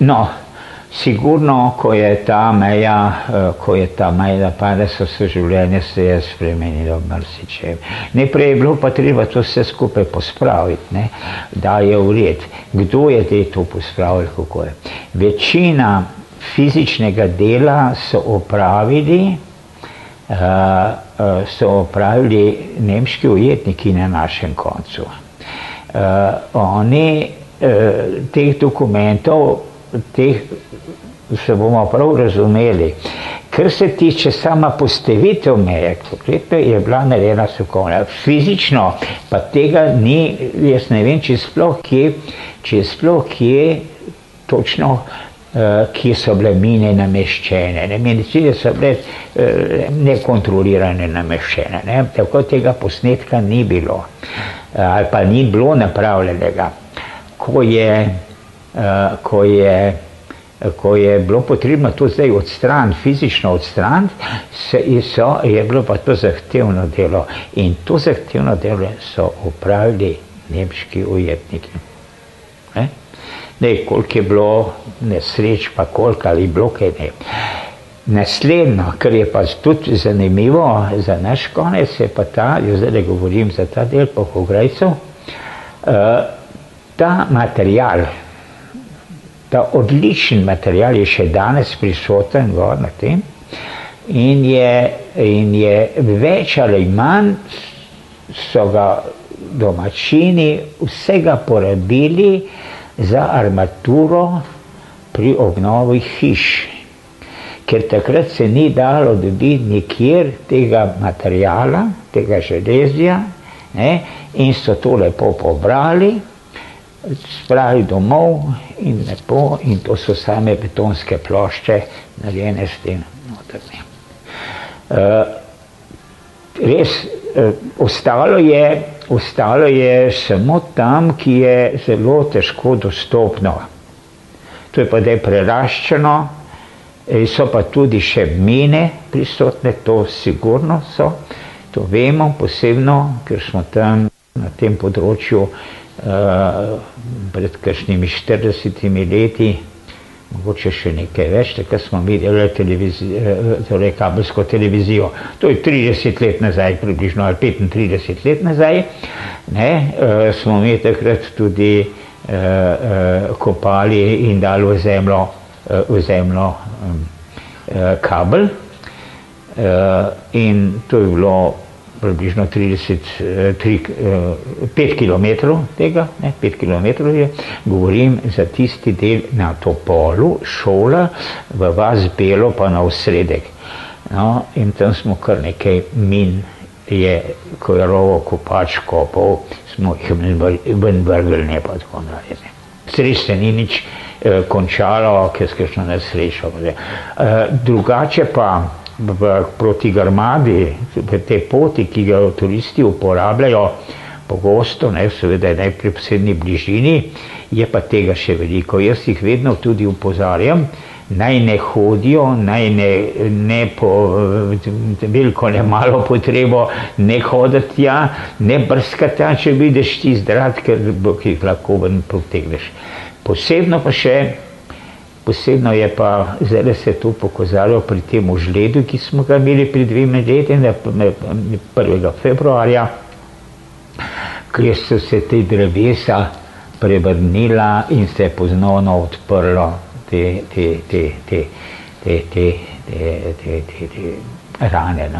No, sigurno, ko je ta meja pada, so se življenje se je spremenilo marsičem. Najprej je bilo pa treba to vse skupaj pospraviti, ne? Da je v red. Kdo je to pospravil, kako je? Večina fizičnega dela so opravili nemški ujetniki na našem koncu. Oni teh dokumentov, se bomo prav razumeli, kar se tiče sama postavitev meje, je bila narejena strokovna. Fizično pa tega ni, jaz ne vem, če sploh kje točno, kje so bile mine nameščene. Medicine so bile nekontrolirane nameščene, ne? Tako tega posnetka ni bilo, ali pa ni bilo napravljenega. Ko je bilo potrebno to zdaj odstraniti, fizično odstraniti, je bilo pa to zahtevno delo. In to zahtevno delo so opravili nemški ujetniki. Koliko je bilo nesreč, pa koliko ali bilo kaj ne. Naslednjo, kar je pa tudi zanimivo za naš konec, je pa ta, jaz zdaj govorim za ta del Polhograjcev, ta material, ta odličen material je še danes prisoten gor na tem in je več ali manj so ga domačini vsega porabili za armaturo pri obnovi hiš. Ker takrat se ni dalo dobiti nikjer tega materijala, tega železja, ne, in so to lepo pobrali, spravili domov in lepo, in to so same betonske plošče narejene s tem notrmi. Res, ostalo je samo tam, ki je zelo težko dostopno. To je pa zdaj preraščeno, so pa tudi še mine prisotne, to sigurno so, to vemo posebno, ker smo tam na tem področju pred kakšnimi 40 leti, mogoče še nekaj več, takrat smo videli torej kabelsko televizijo. To je 30 let nazaj, približno, ali 35 let nazaj, ne, smo mi takrat tudi kopali in dali v zemljo kabel, in to je bilo približno 5 kilometrov tega, 5 kilometrov je, govorim za tisti del na Topolu, šola, v vas Belo pa na osredek. No, in tam smo kar nekaj min, ko je rovo kopač kopal, smo jih ven vrgli, ne pa tako naprej. Sreč se ni nič končalo, ker skakšno nesrečo. Drugače pa proti Grmadi, te poti, ki ga turisti uporabljajo pogosto, seveda najprej v posebni bližini, je pa tega še veliko. Jaz jih vedno tudi upozarjam, naj ne hodijo, naj ne po veliko ne malo potrebo ne hoditi tja, ne brskati tja, če vidiš ti zdrat, ker jih lahko ven potegneš. Posebno je pa, zdaj se to pokazalo pri tem žledu, ki smo ga imeli pri 2 leti, 1. februarja, kjer so se te drevesa prevrnila in se je ponovno odprlo te rane.